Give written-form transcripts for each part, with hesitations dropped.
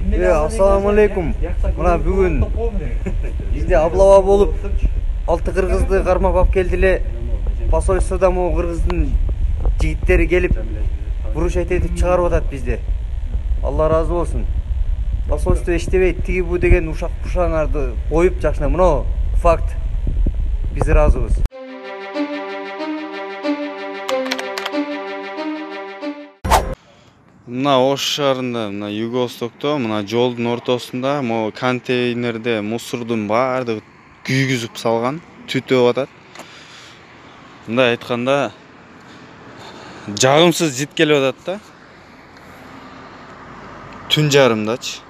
Assalamu alaikum. Мына бүгүн бизде облава болуп 6 кыргызды кармап алып келди эле. Посольствода могу кыргыздын жигиттери келип бурушайт этип чыгарып атат бизде. Алла разы болсун. Посольство иштебейт, тиги бу деген ушак пушаңарды коюп жакшына. Мына факт. Биз ыраазыбыз. Мына Ош шаарында, мына Юго-Востокто, мына жолдун ортосунда, могу контейнерде мусордун баардыгы күйгүзүп салган, түтөп атат. Мындай айтканда, жагымсыз жит келип атат да. Түн жарымдачы.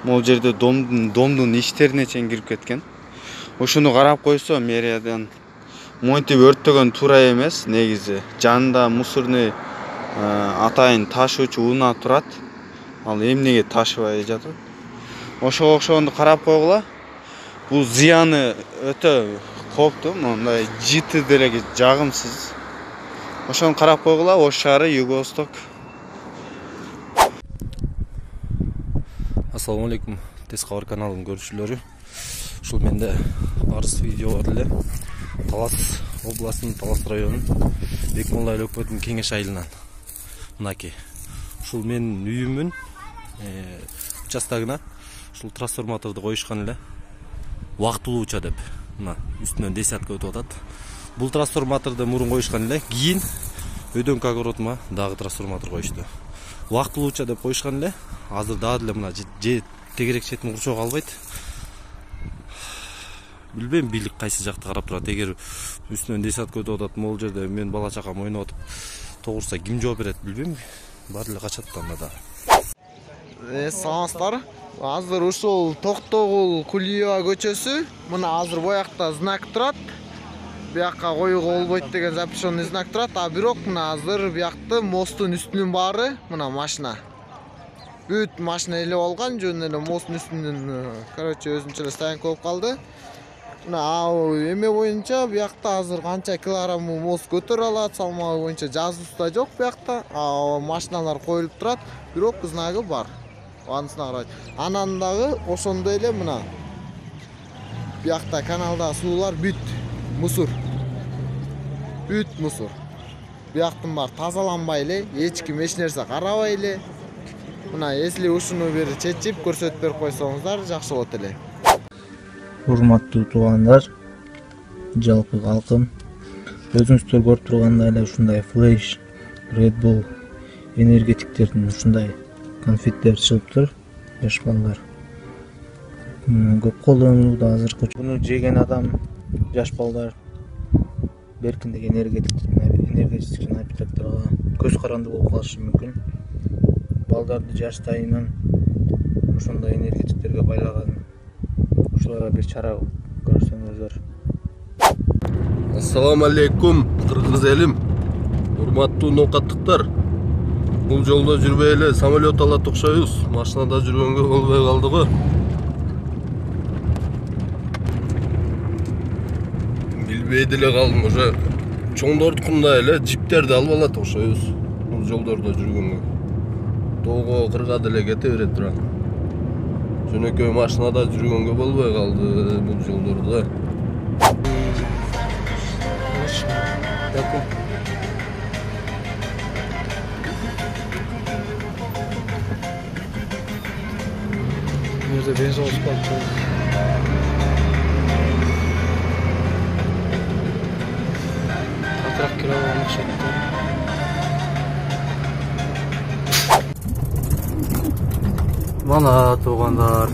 Могу жерде домдун ичтерине чейин кирип кеткен. Ошону карап койсо, мэриядан монтип өрттөгөн туура эмес, негизи. Жанында мусорный атайын ташуучу унаа турат. Ал эмнеге ташыбай жатат? Ошого окшогонду карап койгула. Бул зыяны өтө кооптуу, мындай жити деле жагымсыз. Ошону карап койгула, Ош шаары, Юго-Восток. Ассаламу алейкум, Тез кабар каналынын көрүүчүлөрү. Ушул менде арыз видео бар эле. Талас областынын Талас районунун Бекмолла айыл өкмөтүнүн кеңеш айылынан. Мынакей. Ушул менин үйүмүн участогуна ушул трансформаторду коюшкан эле. Убактылууча деп. Мына үстүнөн десятка өтүп атат. Бул трансформаторду мурун коюшкан эле. Кийин өйдөңкү огородума дагы трансформатор коюшту. Убактылууча деп коюшкан эле. Азыр дагы эле мына тегерек четин курчоого албайт. Билбейм бийлик кайсы жакта карап турат. Эгер үстүнөн десятка өтүп атат, могул жерде мен бала чакам ойноп атып тогурса ким жооп берет билбейм. Баары эле качат анда да. Саламатсыздар. Азыр ушул Токтогул Кулиева көчөсү. Мына азыр боякта знак турат. Биякка коюуга болбойт деген запрещенный знак турат. А бирок мына азыр биякты мосттун үстүнүн баары мына машина. Бүт машина эле алган, жөн эле мосттун үстүнөн, өзүнчө эле стоянка болуп калды. Мына эме боюнча биякта азыр канча килограмм мост көтөрө алат, салмагы боюнча жазуусу жок биякта. Машиналар коюлуп турат, бирок знагы бар. Анысына карайт. Анан дагы ошондой эле мына биякта каналда суулар бүт мусор. Бүт мусор. Бияктын бар тазаланбай эле, эч ким эч нерсе карабай эле. Мына если ушуну бир чечип көрсөтүп берип койсоңуздар жакшы болот эле. Урматтуу туугандар, жалпы калкым, өзүңүздөр көрүп тургандай эле ушундай флеш, Red Bull энергетиктердин ушундай конфеттер чыгыптыр, жаш балдар. Көп колдонулууда азыркы. Буну жеген адам, жаш балдар беркиндеги энергетический напитокторго көз каранды болуп калышы мүмкүн. Балдарды жаштайынан ошондой энергетиктерге байлаган. Ушуларга бир чара көрсөңүздөр. Ассаламу алейкум, кыргыз элим. Урматтуу ноокаттыктар. Бул жолдо жүрбөй эле самолет алат окшойбуз. Машинада жүргөнгө болбой калды го. Билбей деле калдым, уже чоңдордукундай эле джиптерди алып алат окшойбуз. Бул жолдордо жүргөнгө. Тоого кырга деле кете берет тура. Жөнөкөй машинада жүргөнгө болбой калды бул жолдордо. Бизде бензин алып атырак кире алышат. Мана туугандар,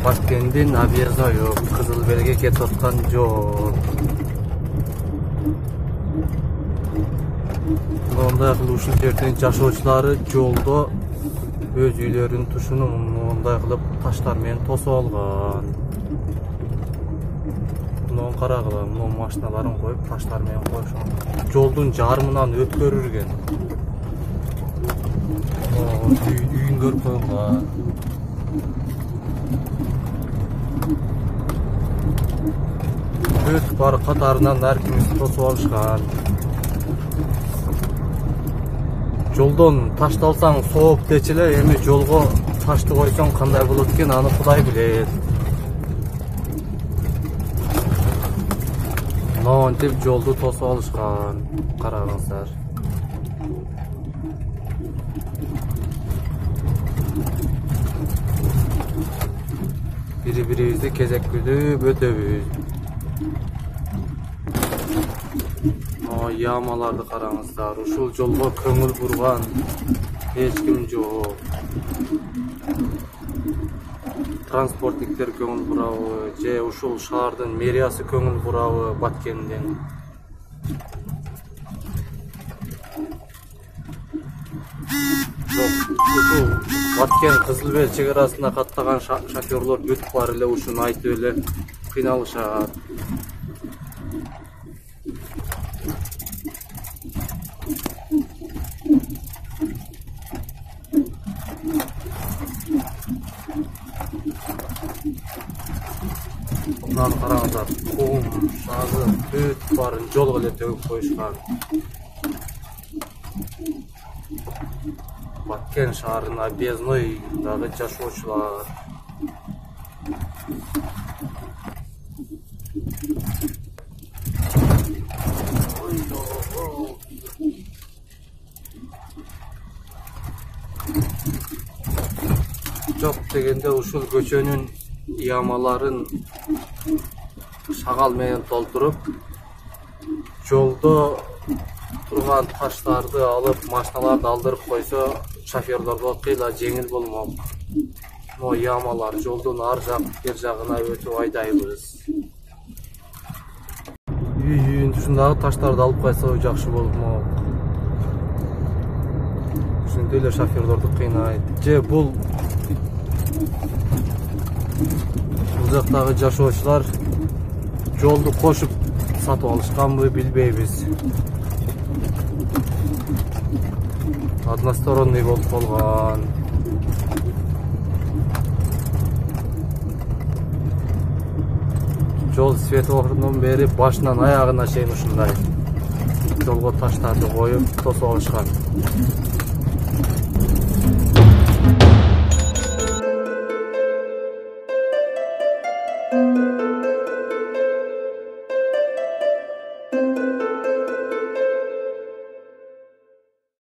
Башкендин объездной Кызыл Белге кетип аткан жол. Мындай кылып ушул жердин жашоочулары жолдо өз үйлөрүнүн тушуну мындай кылып таштар менен тосуп алган. Муну карагыла, муну машиналарын коюп таштар менен коюшкан. Жолдун жарымынан өткөрүлгөн. Үйүн көрүп койгонго. Өтүп бар катарынан ар кимиси тосуп алышкан. Жолдон ташты алсаң сооп дечи эле, эми жолго ташты койсоң кандай болот экен, аны Кудай билет. Монтип жолду тосуп алышкан. Караңыздар. Бири-бирибизди кезектүүлүп өтөбүз. Ямаларды караңыздар. Ушул жолго көңүл бурган эч ким жок. Транспортниктер көңүл бурабы, же ушул шаардын мэриясы көңүл бурабы Баткендин? Ушул Баткен Кызыл Бел чек арасында каттаган шоферлор бүт бар эле ушуну айтып эле кыйналышат. Мынаны караңыздар, кум, шагы, бүт барын жолго эле төгүп коюшкан. Баткен шаарына объездойдагы жашоочулар. Жок дегенде ушул көчөнүн ямаларын шагал менен толтуруп, жолдо турган таштарды алып, машиналарды алдырып койсо, шоферлорго кыйла жеңил болмок. Mo ямалар жолдун ар жак, бер жагына өтүп айдайбыз. Ушундагы таштарды алып койсо жакшы болмок. Ушундай эле шоферлорду кыйнайт. Же бул жактагы жашоочулар жолду кошуп сатып алышканбы, билбейбиз. Односторонний болуп калган. Жол светофорунун бери башынан аягына чейин ушундай жолго таштарды коюп тосуп алышкан.